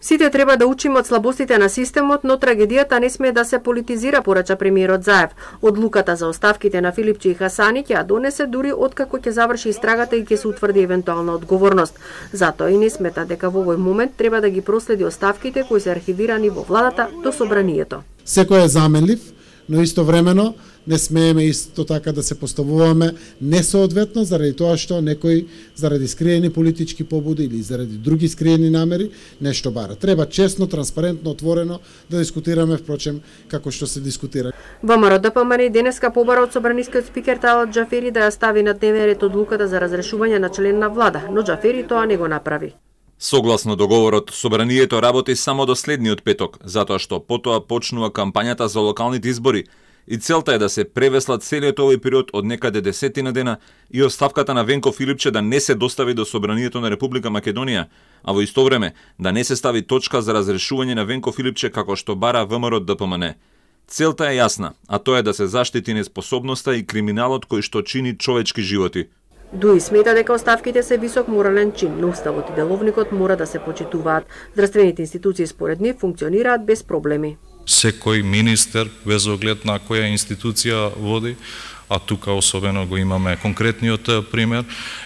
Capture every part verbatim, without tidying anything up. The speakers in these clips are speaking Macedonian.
Сите треба да учиме од слабостите на системот, но трагедијата не смее да се политизира, порача премиерот Заев. Одлуката за оставките на Филипче и Хасани ќе ја донесе дури откако ќе заврши истрагата и ќе се утврди евентуална одговорност. Затоа и не смета дека во овој момент треба да ги проследи оставките кои се архивирани во владата до собранието. Секој е заменлив, но истовремено не смееме исто така да се поставуваме несоодветно заради тоа што некој заради скриени политички побуди или заради други скриени намери нешто бара. Треба честно, транспарентно, отворено да дискутираме, впрочем, како што се дискутира. ВМРО Д П М Н денеска побара од собранискиот спикер Талат Џафери да ја стави на дневен ред одлуката за разрешување на член на влада, но Џафери тоа не го направи. Согласно договорот, собранието работи само до следниот петок, затоа што потоа почнува кампањата за локалните избори и целта е да се превеслат целиот овој период од некаде десетина дена и оставката на Венко Филипче да не се достави до собранието на Република Македонија, а во исто време да не се стави точка за разрешување на Венко Филипче како што бара ВМРО Д П М Н. Целта е јасна, а тоа е да се заштити неспособноста и криминалот кој што чини човечки животи. Дуи смета дека оставките се висок морален чин, но уставот и деловникот мора да се почитуваат. Здравствените институции според нив функционираат без проблеми. Секој министер, без оглед на која институција води, а тука особено го имаме конкретниот пример,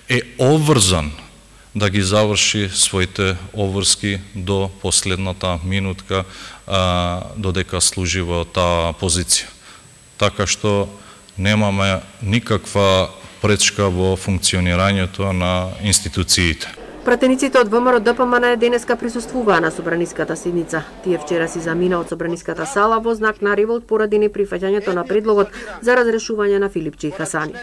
е обврзан да ги заврши своите обврски до последната минутка, а, додека служи во таа позиција. Така што немаме никаква пречка во функционирањето на институциите. Пратениците од ВМРО Д П М Н денеска присуствуваа на собраниската седница. Тие вчера си замина од собраниската сала во знак на револт поради неприфаќањето на предлогот за разрешување на Филипче и Хасани.